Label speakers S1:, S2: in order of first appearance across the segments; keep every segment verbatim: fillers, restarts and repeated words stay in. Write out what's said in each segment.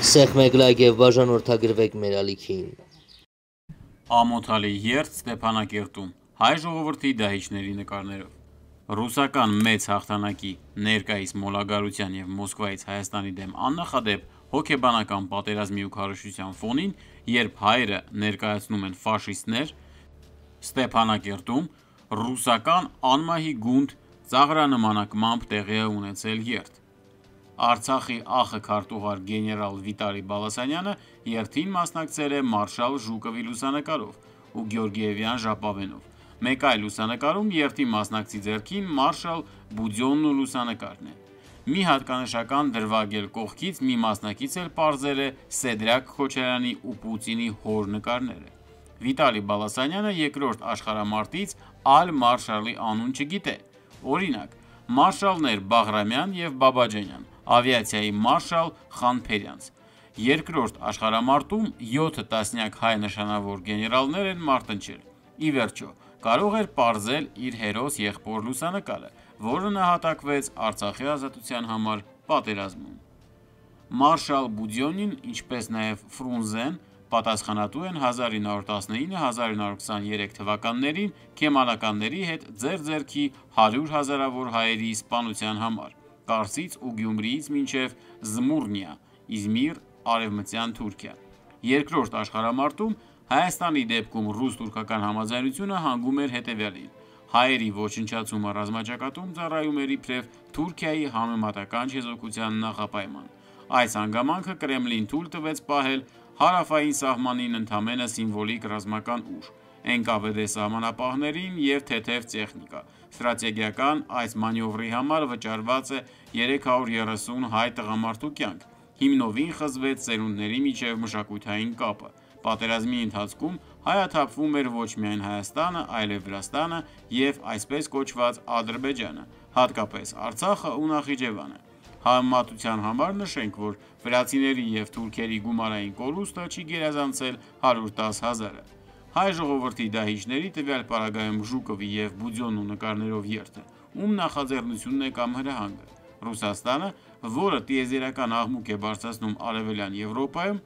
S1: Սեղ մեկ լայք եւ բաժանորդագրվեք մեր ալիքին։
S2: Ամոթալի երթ Ստեփանակերտում հայ ժողովրդի դահիճների նկարներով ռուսական մեծ հաղթանակի ներկայիս մոլագարության եւ Մոսկվայից Հայաստանի դեմ աննախադեպ հոգեբանական պատերազմի ու քարոզչության ֆոնին, երբ հայերը ներկայացնում են ֆաշիստներ, Ստեփանակերտում ռուսական անմահի գունդ ծաղրանմանակմամբ տեղի է ունեցել երթ։ Արցախի ախը քարտուղար գեներալ Վիտալի Բալասանյանը երթին մասնակցել է մարշալ Ժուկովի լուսանկարով ու Գեորգիևյան ժապավենով։ Մեկ այլ լուսանկարում երթի մասնակցի ձեռքին մարշալ Բուդյոնն ու լուսանկարն է։ Մի հատկանշական դրվագել կողքից մի մասնակից էլ պարզել է Սեդրակ Քոչարյանի ու Պուտինի հոր նկարները։ Վիտալի Բալասանյանը երկրորդ աշխարհամարտից այլ մարշալի անուն չգիտե։ Օրինակ, մարշալներ Բաղրամյան եւ Բաբաջանյան, ավիացիայի մարշալ Խանփերյանց։ Երկրորդ աշխարհամարտում յոթ տասնյակ հայ նշանավոր գեներալներ են մարտնչել։ Ի վերջո, կարող էր պարզել իր հերոս եղբոր լուսանկարը, որը նահատակվեց Արցախի ազատության համար պատերազմում։ Մարշալ Բուդյոնին, ինչպես նաև Ֆրունզեն, պատասխանատու են հազար ինը հարյուր տասնինը - հազար ինը հարյուր քսաներեք թվականներին քեմալականների հետ ձեռ-ձեռքի հարյուր հազարավոր հայերի սպանության համար, Կարսից ու Գյումրիից մինչև Զմուռնիա, Իզմիր, Արևմտյան Թուրքիա։ Երկրորդ աշխարհամարտում Հայաստանի դեպքում ռուս-թուրքական համաձայնությունը հանգում էր հետևյալին. հայերի ոչնչացումը ռազմաճակատում ծառայում էր իբրև Թուրքիայի համեմատական չեզոքության նախապայման։ Այս հանգամանքը Կրեմլին թույլ տվեց պահել հարավային սահմանին ընդամենը սիմվոլիկ ռազմական ուժ, Էն Կա Վե Դե սահմանապահներին և թեթև տեխնիկա։ Ստրատեգիական այս մանևրի համար վճարված է երեք հարյուր երեսուն հայ տղամարդու կյանք։ Հիմնովին խզվեց սերունդների միջև մշակութային կապը։ Պատերազմի ընթացքում հայաթափվում էր ոչ միայն Հայաստանը, այլև Վրաստանը և այսպես կոչված Ադրբեջանը, հատկապես Արցախը ու Նախիջևանը։ Համեմատության համար նշենք, որ վրացիների և թուրքերի գումարային կորուստը չի գերազանցել հարյուր տասը հազարը։ Հայ ժողովրդի դահիճների տվյալ պարագայում Ժուկովի և Բուդյոնու նկարներով երթը, ում նախաձեռնությունն է կամ հրահանգը։ Ռուսաստանը, որը տիեզերական աղմուկ է բարձրացնում Արևելյան Եվրոպայում,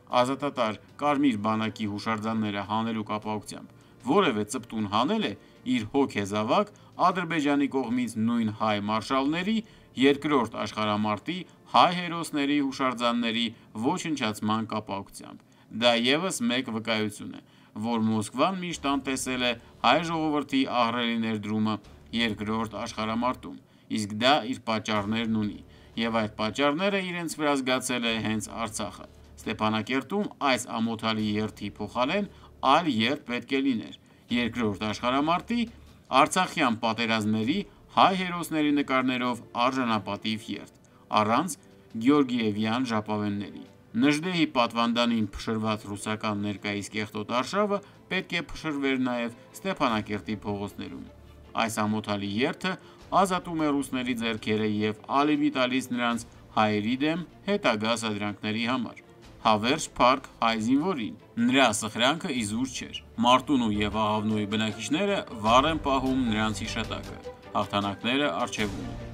S2: ազատատար Կարմիր բանակի հուշարձանները հանելու կապակցությամբ, որևէ ծպտուն հանել է իր հոգեզավակ Ադրբեջանի կողմից նույն հայ մարշալների, երկրորդ աշխարհամարտի հայ հերոսների հուշարձանների ոչնչացման կապակցությամբ։ Դա ևս մեկ վկայություն է, որ Մոսկվան միշտ անտեսել է հայ ժողովրդի ահռելի ներդրումը երկրորդ աշխարհամարտում, իսկ դա իր պատճառներն ունի, և այդ պատճառները իրենց վրա զգացել է հենց Արցախը։ Ստեփանակերտում այս ամոթալի երթի փոխարեն այլ երթ պետք է լիներ՝ երկրորդ աշխարհամարտի արցախյան պատերազմների հայ հերոսների նկարներով արժանապատիվ երթ, առանց Գեորգիևյան ժապավենների։ Նժդեհի պատվանդանին փշրված ռուսական ներկայիս կեղտոտ արշավը պետք է փշրվեր նաև Ստեփանակերտի փողոցներում։ Այս ամոթալի երթը ազատում է ռուսների ձեռքերը և ալիվի տալիս նրանց հայերի դեմ հետագա սադրանքների համար։ Հավերժ փառք հայ զինվորին, նրա սխրանքը իզուր չէր։ Մարտունու և Աղավնոյի բնակիչները վառ են պահում նրանց հիշատակը, հաղթանակները առջևում են։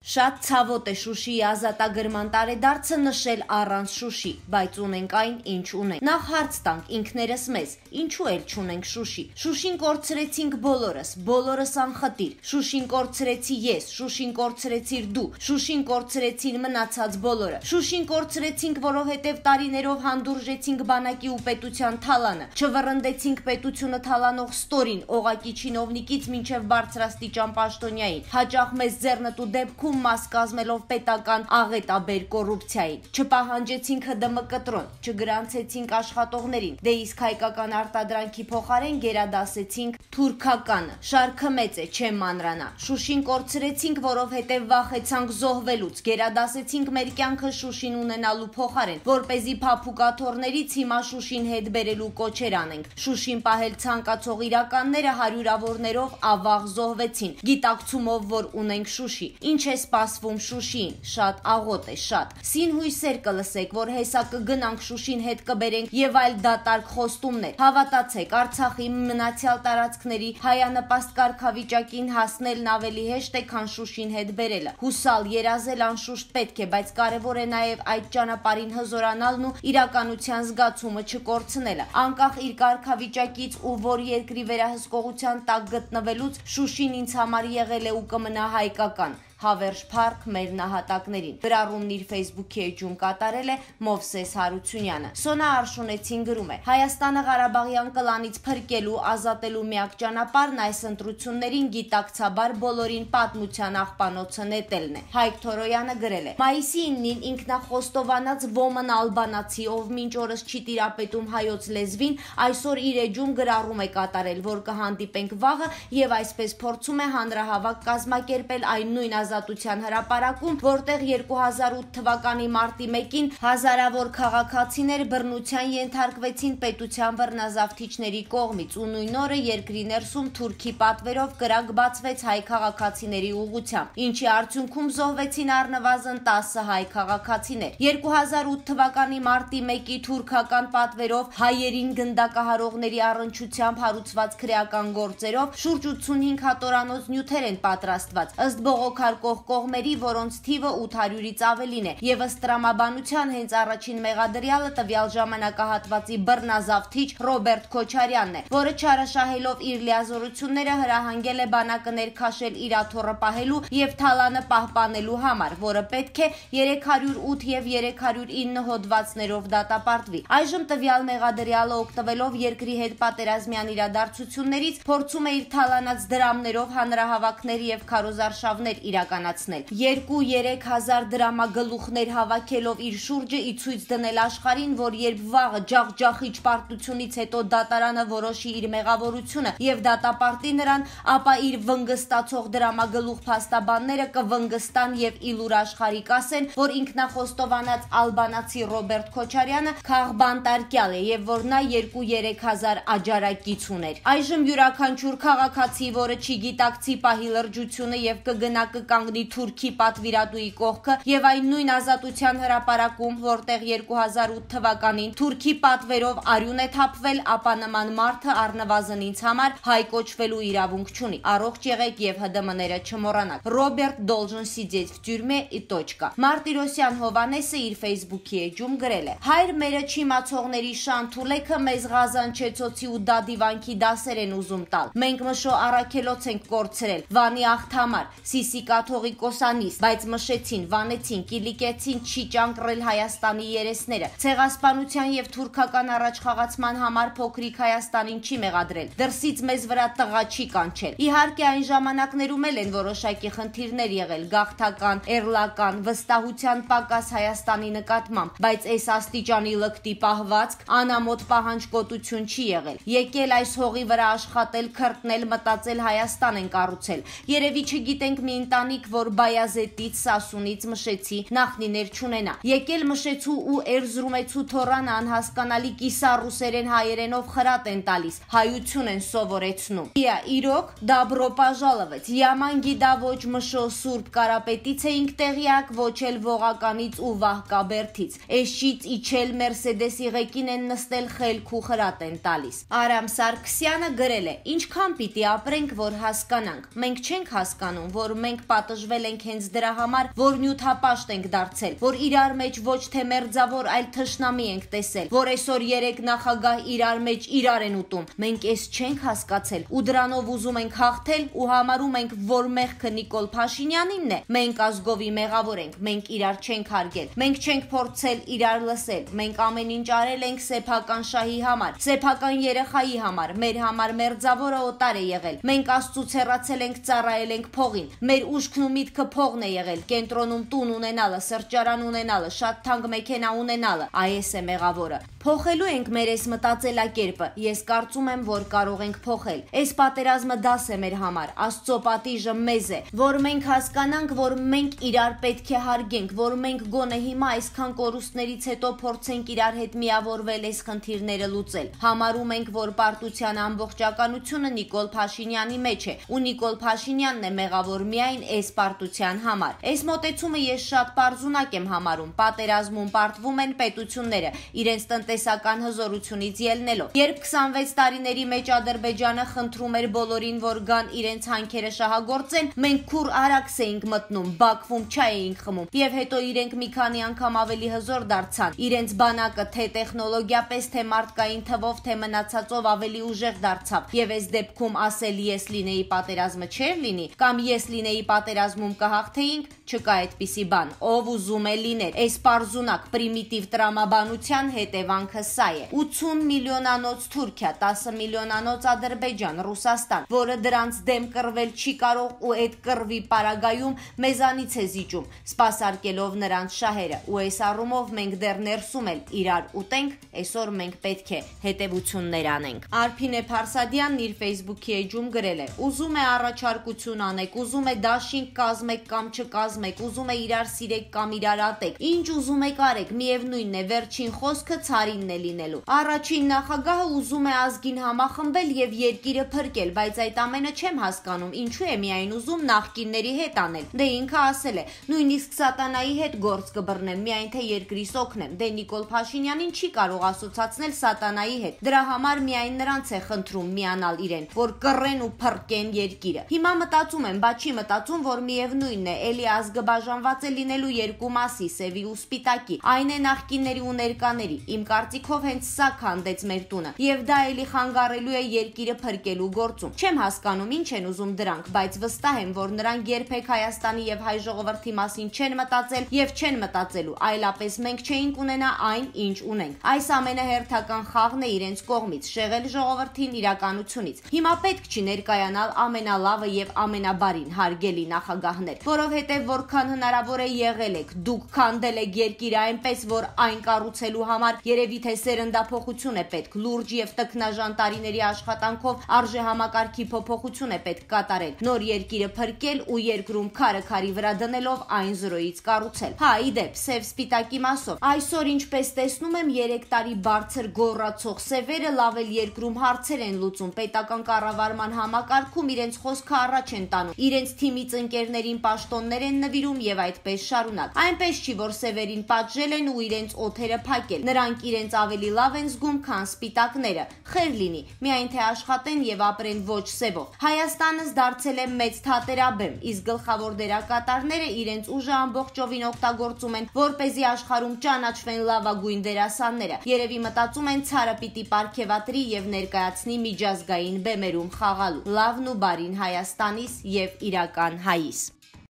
S3: Շատ ցավոտ է Շուշիի ազատագրման տարեդարձը նշել առանց Շուշի, բայց ունենք այն, ինչ ունենք։ Նախ հարց տանք ինքներս մեզ, ինչու էլ չունենք Շուշի։ Շուշին կորցրեցինք բոլորս, բոլորս անխտիր։ Շուշին կորցրեցի ես, Շուշին կորցրեցիր դու, Շուշին կորցրեցին մնացած բոլորը։ Շուշին կորցրեցինք, որովհետև տարիներով հանդուրժեցինք բանակի ու պետության թալանը, չվռնդեցինք պետությունը թալանող ստորին, օղակի չինովնիկից մինչև բարձրաստիճան պաշտոնյային, հաճախ մեզ ձեռնտու դեպքում մաս կազմելով պետական աղետաբեր կոռուպցիային, չպահանջեցինք Հ ԴՄ կտրոն, չգրանցեցինք աշխատողներին, դե իսկ հայկական արտադրանքի փոխարեն գերադասեցինք թուրքականը։ Շարքը մեծ է, չեմ մանրանա։ Շուշին կորցրեցինք, որովհետև վախեցանք զոհվելուց, գերադասեցինք մեր կյանքը Շուշին ունենալու փոխարեն, որպեսզի փափուկ աթոռներից հիմա Շուշին հետ բերելու կոչեր անենք։ Շուշին պահել ցանկացող իրականները հարյուրավորներով ավաղ զոհվեցին, գիտակցումով, որ ունենք Շուշի։ Ինչ ես սպասվում Շուշիին, շատ աղոտ է, շատ։ Սին հույսեր կլսեք, որ հեսա կգնանք Շուշին հետ կբերենք եւ այլ դատարկ խոստումներ։ Հավատացեք, Արցախի մնացյալ տարածքների հայանպաստ կարգավիճակին հասնելն ավելի հեշտ է, քան Շուշին հետ բերելը։ Հուսալ, երազել անշուշտ պետք է, բայց կարևոր է նաեւ այդ ճանապարհին հզորանալն ու իրականության զգացումը չկորցնելը։ Անկախ իր կարգավիճակից ու որ երկրի վերահսկողության տակ գտնվելուց Շուշին ինձ համար եղել է ու կմնա հայկական։ Հավերժ Փառք մեր նահատակներին։ Գրառումն իր Facebook-ի էջում կատարել է Մովսես Հարությունյանը։ Սոնա Արշունեցին գրում է. Հայաստանը Ղարաբաղյան կլանից փրկելու, ազատելու միակ ճանապարհն այս ընտրություններին գիտակցաբար բոլորին պատմության աղբանոցը նետելն է։ Հայկ Թորոյանը գրել է. Մայիսի իննին ինքնախոստովանած ոմն ալբանացի, ով մինչ օրս չի տիրապետում հայոց լեզվին, այսօր իր էջում գրառում է կատարել, որ կհանդիպենք վաղը եւ այսպես փորձում է հանրահավաք կազմակերպել այն նույն ազատության հրապարակում, որտեղ երկու հազար ութ թվականի մարտի մեկին հազարավոր քաղաքացիներ բռնության ենթարկվեցին պետության բռնազավթիչների կողմից ու նույն օրը երկրի ներսում թուրքի պատվերով կրակ բացվեց հայ քաղաքացիների ուղղությամբ, ինչի արդյունքում զոհվեցին առնվազն տասը հայ քաղաքացիներ։ երկու հազար ութ թվականի մարտի մեկի թուրքական պատվերով հայերին գնդակահարողների առնչությամբ հարուցված քրեական գործերով շուրջ ութսունհինգ հատորանոց նյութեր են պատրաստված, ըստ բողոքարկող կողմերի, որոնց թիվը ութ հարյուրից ավելին է, եւ ըստ տրամաբանության հենց առաջին մեղադրյալը տվյալ ժամանակահատվածի բռնազավթիչ Ռոբերտ Քոչարյանն է, որը չարաշահելով իր լիազորությունները հրահանգել է բանակը ներքաշել իր աթոռը պահելու եւ թալանը պահպանելու համար, որը պետք է երեք հարյուր ութ եւ երեք հարյուր ինը հոդվածներով դատապարտվի։ Այժմ տվյալ մեղադրյալը օգտվելով երկրի հետ պատերազմյան իրադարձություններից փորձում է իր թալանած դրամներով հանրահավաքներ եւ քարոզարշավներ իրականացնել։ երկու-երեք հազար դրամագլուխներ հավաքելով իր շուրջը ի ցույց դնել աշխարհին, որ երբ վաղը ջախջախիչ պարտությունից հետո դատարանը որոշի իր մեղավորությունը եւ դատապարտի նրան, ապա իր վնգստացող դրամագլուխ փաստաբանները կվնգստան եւ իլուր աշխարհի կասեն, որ ինքնախոստովանած ալբանացի Ռոբերտ Քոչարյանը քաղբանտարկյալ է եւ որ նա երկու-երեք հազար աջարակից ուներ։ Այժմ յուրաքանչյուր քաղաքացի, որը չի գիտակցի պահի լրջությունը եւ կգնա կկանգնի թուրքի պատվիրատուի կողքը եւ այն նույն ազատության հրապարակում, որտեղ երկու հազար ութ թվականին թուրքի պատվերով արյուն է թափվել, ապա նման մարդը առնվազն ինձ համար հայ կոչվելու իրավունք չունի։ Առողջ եղեք եւ ՀԴՄ-ները չմոռանաք։ Ռոբերտ должен сидеть в тюрьме и точка։ Մարտիրոսյան Հովանեսը իր Facebook-ի էջում գրել է. Հայր մերը չիմացողների շանթուլեքը մեզ Ղազանչեցոցի ու դադիվանքի դասեր են ուզում տալ։ Մենք մշո առաքելոց ենք կորցրել, Վանի աղթամար, Սիսիկա Թողիկոսանիս, բայց մշեցին, վանեցին, կիլիկեցին չի ճանկռել Հայաստանի երեսները։ Ցեղասպանության եւ թուրքական առաջխաղացման համար փոքրիկ Հայաստանին չի մեղադրել։ Դրսից մեզ վրա տղա չի կանչել։ Իհարկե այն ժամանակներում էլ են որոշակի խնդիրներ եղել, գաղթական, էրլական, վստահության պակաս Հայաստանի նկատմամբ, բայց այս աստիճանի լկտի պահվածք, անամոթ պահանջկոտություն չի եղել։ Եկել այս հողի վրա աշխատել, քրտնել, մտածել Հայաստան են կառուցել։ Երևի չգիտենք մի ընտանիք, որ Բայազետից, Սասունից, Մշեցի նախնիներ չունենա։ Եկել Մշեցու ու Էրզրումեցու թորանը անհասկանալի կիսառուսերեն հայերենով խրատ են տալիս, հայություն են սովորեցնում։ Իա իրոք դաբրո պաժալովեց, Yaman գիդա ոչ Մշո Սուրբ Կարապետից էինք տեղյակ, ոչ էլ Ողականից ու Վահկաբերդից։ Էշից իջել Մերսեդեսի ղեկին են նստել, խելք ու խրատ են տալիս։ Արամ Սարգսյանը գրել է. Ինչքան պիտի ապրենք, որ հասկանանք։ Մենք չենք հասկանում, որ մենք պատժվել ենք հենց դրա համար, որ նյութապաշտ ենք դարձել, որ իրար մեջ ոչ թե մերձավոր, այլ թշնամի ենք տեսել, որ այսօր երեք նախագահ իրար մեջ իրար են ուտում։ Մենք էս չենք հասկացել ու դրանով ուզում ենք հաղթել ու համարում ենք, որ մեղքը Նիկոլ Փաշինյանինն է։ Մենք ազգովի մեղավոր ենք, մենք իրար չենք հարգել, մենք չենք փորձել իրար լսել, մենք ամեն ինչ արել ենք սեփական շահի համար, սեփական երեխայի համար, մեր համար մերձավորը օտար է եղել։ Մենք Աստծուց հեռացել ենք, ծառայել ենք փողին։ Մեր ուշքն ու միտքը փողն է եղել, կենտրոնում տուն ունենալը, սրճարան ունենալը, շատ թանկ մեքենա ունենալը, այս է մեղավորը։ Փոխելու ենք մեր այս մտածելակերպը։ Ես կարծում եմ, որ կարող ենք փոխել։ Այս պատերազմը դաս է մեր համար, Աստծո պատիժը մեզ է, որ մենք հասկանանք, որ մենք իրար պետք է հարգենք, որ մենք գոնե հիմա այսքան կորուստներից հետո փորձենք իրար հետ միավորվել այս խնդիրները լուծել։ Համարում ենք, որ պարտության ամբողջականությունը Նիկոլ Փաշինյանի մեջ է, ու Նիկոլ Փաշինյանն է մեղավոր միայն այս այս պարտության համար։ Այս մոտեցումը ես շատ պարզունակ եմ համարում։ Պատերազմում պարտվում են պետությունները իրենց տնտեսական հզորությունից ելնելով։ Երբ քսանվեց տարիների մեջ Ադրբեջանը խնդրում էր բոլորին, որ գան իրենց հանքերը շահագործեն, մենք քուր արաքս էինք մտնում, Բաքվում չայ էինք խմում, եւ հետո իրենք մի քանի անգամ ավելի հզոր դարձան։ Իրենց բանակը թե տեխնոլոգիապես, թե մարդկային թվով, թե մնացածով ավելի ուժեղ դարձավ։ Եվ այս դեպքում ասել ես լինեի պատերազմը չէր լինի, կամ ես լինեի պատերազմում կհաղթեինք, չկա այդպիսի բան։ Ով ուզում է լիներ։ Այս պարզունակ պրիմիտիվ տրամաբանության հետևանքը սա է։ ութուն միլիոնանոց Թուրքիա, տասը միլիոնանոց Ադրբեջան, Ռուսաստան, որը դրանց դեմ կռվել չի կարող ու այդ կռվի պարագայում մեզանից է զիջում, սպասարկելով նրանց շահերը։ Ու այս առումով մենք դեռ ներսում էլ իրար ուտենք, այսօր մենք պետք է հետևություններ անենք։ Արփինե Փարսադյանն իր Facebook-ի էջում գրել է. ուզում է առաջարկություն անեք, ուզում է դաշինք կազմեք կամ չկազմեք, ուզում է իրար սիրեք կամ իրար ատեք, ինչ ուզում եք արեք, միևնույնն է, վերջին խոսքը ցարինն է լինելու։ Առաջին նախագահը ուզում է ազգին համախմբել եւ երկիրը փրկել, բայց այդ ամենը չեմ հասկանում, ինչու է միայն ուզում նախկինների հետ անել։ Դե ինքը ասել է, նույնիսկ սատանայի հետ գործ կբռնեմ, միայն թե երկրիս օգնեմ։ Դե Նիկոլ Փաշինյանին չի կարող ասոցացնել սատանայի հետ։ Դրա համար միայն նրանց է խնդրում միանալ իրեն, որ կռեն ու փրկեն երկիրը։ Հիմա մտածում եմ, բա չի մտածում, որ միևնույնն է, էլի ազգը բաժանված է լինելու երկու մասի, սևի ու սպիտակի։ Այն է նախկինների ու ներկաների։ Իմ կարծիքով հենց սա քանդեց մեր տունը, եւ դա էլի խանգարելու է երկիրը փրկելու գործում։ Չեմ հասկանում ինչ են ուզում դրանք, բայց վստահ եմ, որ նրանք երբեք Հայաստանի եւ հայ ժողովրդի մասին չեն մտածել եւ չեն մտածելու, այլապես մենք չէինք ունենա այն, ինչ ունենք։ Այս ամենահերթական խաղն է իրենց կողմից, շեղել ժողովրդին իրականությունից։ Հիմա պետք չի ներկայանալ ամենալավը եւ ամենաբարին, հարգելի նախագահներ, որովհետեւ որքան հնարավոր է եղել եք, դուք քանդել եք երկիրը այնպես, որ այն կառուցելու համար երևի թե սերնդափոխություն է պետք, լուրջ եւ տքնաժան տարիների աշխատանքով արժեհամակարգի փոփոխություն է պետք կատարել, նոր երկիրը փրկել ու երկրում քարը քարի վրա դնելով այն զրոյից կառուցել։ Հա, իդեպ, սև սպիտակի մասով, այսօր ինչպես տեսնում եմ, երեք տարի բարձր գոռացող սևերը լավ էլ երկրում հարցեր են լուծում, պետական կառավարման համակարգում իրենց խոսքը առաջ են տանում, իրենց թիմից ընկերներին պաշտոններ են նվիրում եւ այդպես շարունակ։ Այնպես չի, որ սևերին պատժել են ու իրենց օթերը փակել։ Նրանք իրենց ավելի լավ են զգում, քան սպիտակները։ Խեր լինի, միայն թե աշխատեն եւ ապրեն ոչ սևով։ Հայաստանս դարձել է մեծ թատերաբեմ, իսկ գլխավոր դերակատարները իրենց ուժը ամբողջովին օգտագործում են, որպեսզի աշխարհում ճանաչվեն լավագույն դերասանները։ Երևի մտածում են ցարը պիտի պարգևատրի եւ ներկայացնի միջազգային բեմերում խաղալու։ Լավն ու բարին Հայաստանիս եւ իրական հայիս։